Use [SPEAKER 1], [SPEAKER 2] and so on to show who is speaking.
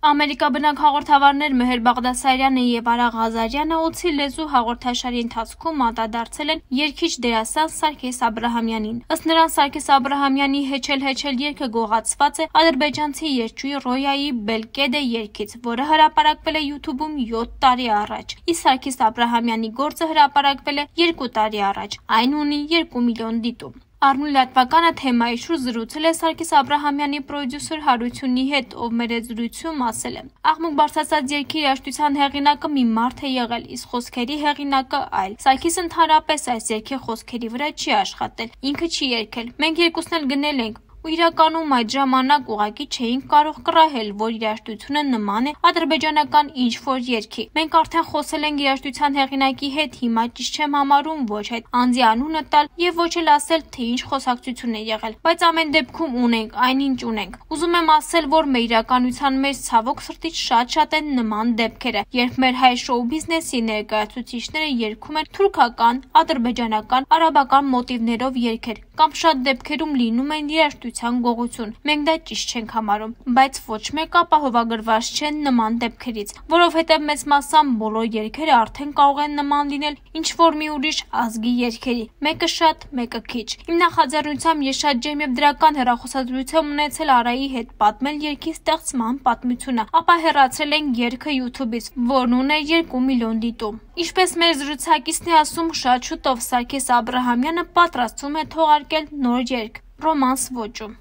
[SPEAKER 1] Ամերիկաբնակ հաղորդավարներ Մեհեր Բաղդասարյանը եւ Արա Ղազարյանը «Օձի լեզու» հաղորդաշարի ընթացքում անդրադարձել են երգիչ դերասան Սարգիս Աբրահամյանին։ Ըստ նրան Սարգիս Աբրահամյանի «Հեչել երգը» գողացված է ադրբեջանցի երգչուհի Ռոյայի «Բելկեդե» երգից, որը հրապարակվել է YouTube-ում 7 տարի առաջ։ Իսկ Սարգիս Աբրահամյանի գործը հրապարակվել է 2 տարի առաջ։ Այն ունի 2 միլիոն դիտում։ Առնու լատվականը թեմայի շուրջ զրուցել է Սարգիս Աբրահամյանի պրոդյուսեր Հարությունի հետ, ով մեր հետ զրույցում ասել է. «Աղմուկ բարձրացած երգի երաժշտության հեղինակը մի մարդ է եղել, իսկ խոսքերի հեղինակը այլ։ Սարգիսը ընդհանրապես այս երգի խոսքերի վրա չի աշխատել, ինքը չի երգել։ Մենք երկուսն էլ գնել ենք։ Ու իրականում այդ ժամանակ ուղղակի չէինք կարող կռահել, որ երաժշտությունը նման է ադրբեջանական ինչ-որ երգի։ Մենք արդեն խոսել ենք երաժշտության հեղինակի հետ, հիմա ճիշտ չեմ համարում ոչ այդ անձի անունը տալ եւ ոչ էլ ասել, թե ինչ խոսակցություն է եղել, բայց ամեն դեպքում ունենք այնինչ ունենք։ Ուզում եմ ասել, որ մեր իրականության մեջ ցավոք սրտի շատ են նման դեպքերը, երբ մեր հայ շոու բիզնեսի ներկայացուցիչները երգում են թուրքական, ադրբեջանական, արաբական մոտիվներով երգեր, կամ շատ դեպքերում լինում են երաժշտության գողություն։ Մենք դա ճիշտ չենք համարում, բայց ոչ մեկ ապահովագրված չեն նման դեպքերից, որովհետև մեծ մասամբ բոլոր երգերը արդեն կարող են նման լինել ինչ-որ մի ուրիշ ազգի երգերի, մեկը շատ, մեկը քիչ։ Իմ նախաձեռնությամբ ես շատ ջերմ եւ դրական հեռախոսազրույց եմ ունեցել Արայի հետ, պատմել երգի ստեղծման պատմությունը, ապա հեռացրել ենք երգը YouTube-ից, որն ուներ 2 միլիոն դիտում։ Ինչպես մեր զրուցակիցն է ասում, շատ շուտով Սարգիս Աբրահամյանը պատրաստվում է թողարկել նոր երգ ռոմանս ոճում։